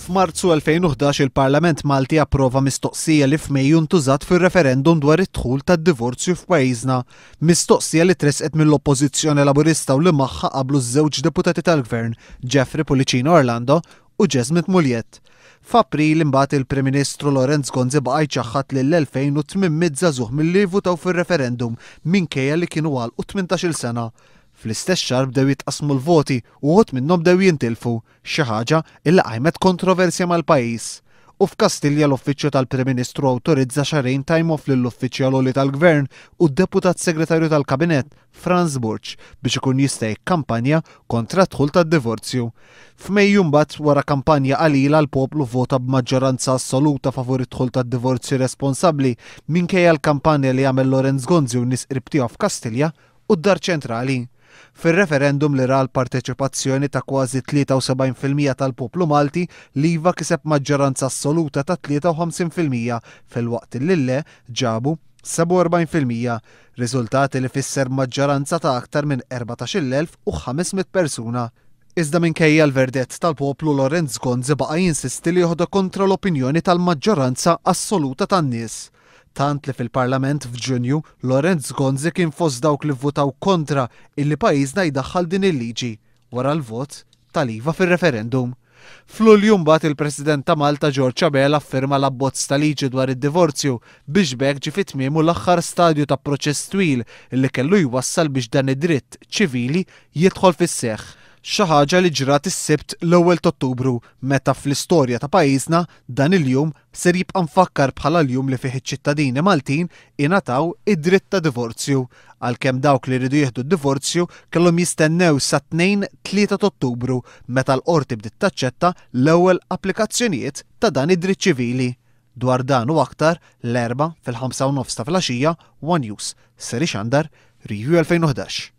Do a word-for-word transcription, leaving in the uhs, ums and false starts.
F'Marzu elfejn u ħdax il-Parlament Malti approva mistoqsija li f'Mejju ntużat fir-referendum dwar id-dħul tad-divorzju f'pajjiżna. Mistoqsija li tresqet mill-Oppożizzjoni Laburista u li magħha qablu ż-żewġ deputati tal-Gvern, Jeffrey Pullicino Orlando u Jesmond Mugliett. F'April imbagħad il-Prim Ministru Lawrence Gonzi baqa' jċaħħad lil elfejn u tmien mitt żagħżugħ milli jivvutaw fir-referendum minkejja li kienu għalqu tmintax-il sena. Fl-istess xahar bdew jitqasmu l-voti u wħud minnhom bdew jintilfu, xi ħaġa illi qajmet kontroversja mal-pajjiż. U f'Kastilja l-Uffiċċju tal-Prim Ministru awtorizza xahrejn time off lill-uffiċjal għoli tal-Gvern u d-Deputat Segretarju tal-Kabinett Frans Borg biex ikun jista' jikkampanja kontra d-dħul tad-divorzju. F'Mejju mbagħad wara kampanja qalila l-poplu vota b'maġġoranza assoluta favur id-dħul tad-divorzju responsabbli minkejja l-kampanja li għamel Lawrence Gonzi u nies qrib tiegħu f'Kastilja u d-Dar Ċentrali. Fir-referendum li ra l-parteċipazzjoni ta' kważi tlieta u sebgħin fil-mija tal-poplu Malti, l-IVA kiseb maġġoranza assoluta ta' tlieta u ħamsin fil-mija filwaqt li l-le ġabu sebgħa u erbgħin fil-mija, riżultati li fisser maġġoranza ta' aktar minn erbatax-il elf u ħames mitt persuna. Iżda minkejja l-verdett tal-poplu, Lawrence Gonzi baqa' jinsisti li joħodha kontra l-opinjoni tal-maġġoranza assoluta tan-nies. Tant li fil-Parlament f'Ġunju, Lawrence Gonzi kien fost dawk li vvutaw kontra illi pajjiżna jdaħħal din il-liġi wara l-vot tal-IVA fir-referendum. F'Lulju mbagħad il-President ta' Malta George Abela affirma l-abbozz ta' liġi dwar id-divorzju biex b'hekk ġie fi tmiemu l-aħħar stadju ta' proċess twil illi kellu jwassal biex dan id-dritt ċivili jidħol fis-seħħ. Xi ħaġa li ġrat is-Sibt l-ewwel ta' Ottubru meta fl-istorja ta' pajjiżna dan il-jum ser jibqa' mfakkar bħala l-jum li fih iċ-ċittadini Maltin ingħataw id-dritt ta' divorzju, għalkemm dawk li rridu jieħdu d-divorzju kellhom jistennew sa tnejn tlieta ta' Ottubru meta l-qorti bdiet taċċetta l-ewwel applikazzjonijiet ta' dan id-dritt ċivili. Dwar dan u aktar l-Erbgħa fil-ħamsa u nofs ta' filgħaxija One News ser ixandar Review elfejn u ħdax.